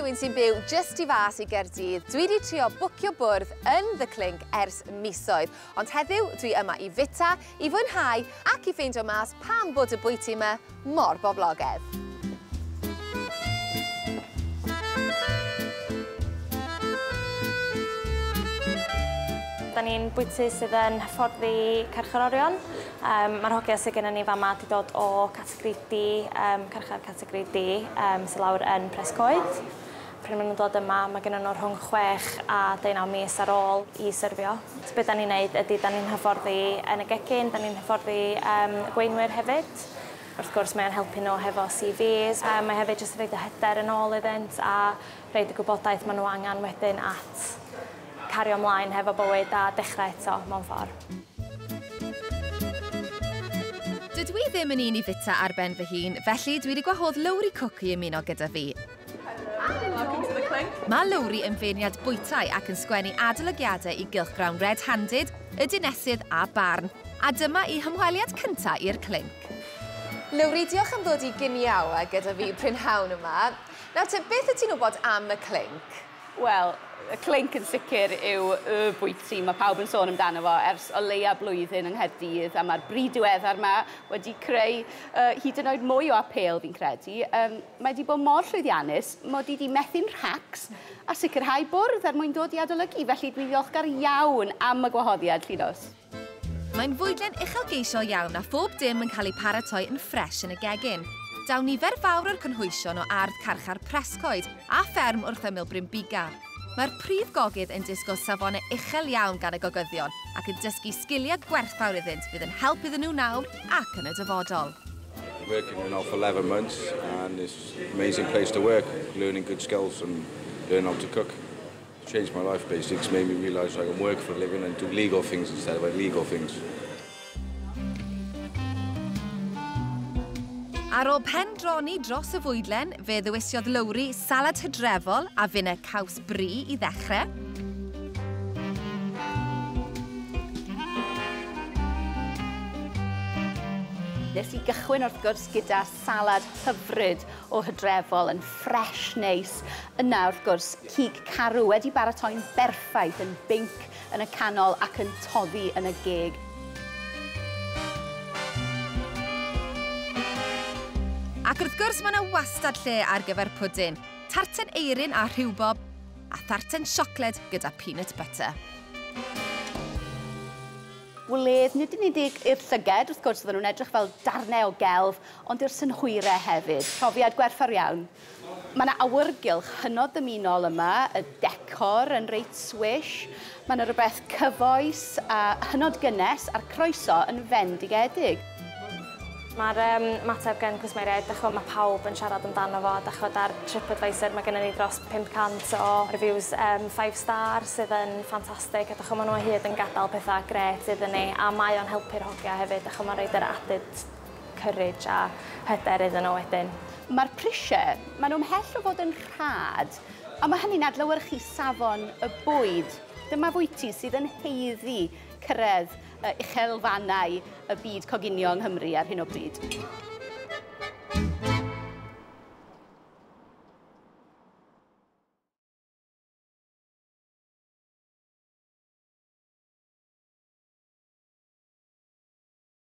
rhywun sy'n byw jyst i fas i Gaerdydd, dwi wedi trio bwcio bwrdd yn The Clink ers misoedd. Ond heddiw, dwi yma i fita, i fwynhau ac i ffeindio mas pam bod y bwyty yma mor boblogaidd. Da ni'n bwyty sydd yn hyfforddi carcharorion. Mae'r hogia sydd gennym ni fama wedi dod o categori D, carchar categori D, sydd lawr yn Prescoed. Pryd maen nhw'n dod yma, mae gennym nhw rhwng 6 a 19 mis ar ôl i syrfio. So beth da ni'n neud ydy, da ni'n hyfforddi yn y gegin, da ni'n hyfforddi gweinwyr hefyd. Wrth gwrs, mae'n helpu nhw hefo CVs. Mae hefyd jyst yn rhoid y hyder yn ôl iddynt a rhoid y gwybodaeth maen nhw angen wedyn at cario ymlaen hefo bywyd a dechrau eto mewn ffordd. Dydw i ddim yn un i fita ar ben fy hun, felly dwi wedi gwahodd Lowri Cook i ymuno gyda fi. Welcome to The Clink. Mae Lowri yn feirniad bwytai ac yn sgwennu adolygiadau i gylchgrawn Red Handed, Y Dinesydd a Barn. A dyma ei hymweliad cyntaf i'r Clink. Lowri, diolch am ddod i giniawa gyda fi prynhawn yma. Nawr te, beth wyt ti'n wybod am y Clink? Wel, y Clink yn sicr yw y bwyty mae pawb yn sôn amdano fo ers o leia blwyddyn yng Nghaerdydd, a mae'r brid diweddar yma wedi creu hyd yn oed mwy o apêl fi'n credu. Mae wedi bod mor llwyddiannus, mod i wedi methu'n rhacs a sicrhau bwrdd er mwyn dod i adolygu, felly dwi'n ddiolchgar iawn am y gwahoddiad, Llinos. Mae'n fwydlen uchelgeisiol iawn a phob dim yn cael ei paratoi yn ffres yn y gegin. Daw nifer fawr o'r cynhwysion o ardd carchar Prescoed a fferm wrth ymyl Brynbuga. Mae'r prif gogydd yn disgwyl safonau uchel iawn gan y gogyddion ac yn dysgu sgiliau gwerthfawr iddynt fydd yn help iddyn nhw nawr ac yn y dyfodol. Working here now for 11 months and it's an amazing place to work, learning good skills and learn how to cook. It's changed my life basically. It's made me realise I can work for a living and do legal things instead of illegal things. Ar ôl pendroni dros y fwydlen, fe ddewisiodd Lowri salad hydrefol a finne caws brie i ddechrau. Nes i gychwyn wrth gwrs gyda salad hyfryd o hydrefol yn ffres neis. Yna wrth gwrs cig carw wedi baratoi'n berffaith yn binc yn y canol ac yn toddi yn y geg. Ac wrth gwrs mae yna wastad lle ar gyfer pwdin, tarten eirin a rhiwbob, a tharten siocled gyda peanut butter. Wledd, nid yn unig i'r llyged, wrth gwrs, oedden nhw'n edrych fel darnau o gelf, ond i'r synhwyrau hefyd. Profiad gwerthfawr iawn. Mae yna awyrgylch hynod ddymunol yma, y decor yn reit swish, mae yna rhywbeth cyfoes a hynod gynnes a'r croeso yn fendigedig. Mae'r ymateb gen cwsmeriaid, dych ch'mod, mae pawb yn siarad amdano fo, dych ch'mod, ar TripAdvisor mae gennym ni dros 500 o reviews 5 star sydd yn ffantastig, a dych ch'mod, maen nhw o hyd yn gadael pethau grêt iddyn ni, a mae o'n helpu'r hogia hefyd, dych ch'mod, mae'n rhoid yr added courage a hyder iddyn nhw wedyn. Mae'r prisiau, maen nhw ymhell o fod yn rhad, a mae hynny'n adlewyrchu safon y bwyd. Dyma fwyty sydd yn haeddu cyrraedd uchelfannau y byd coginio yng Nghymru ar hyn o bryd.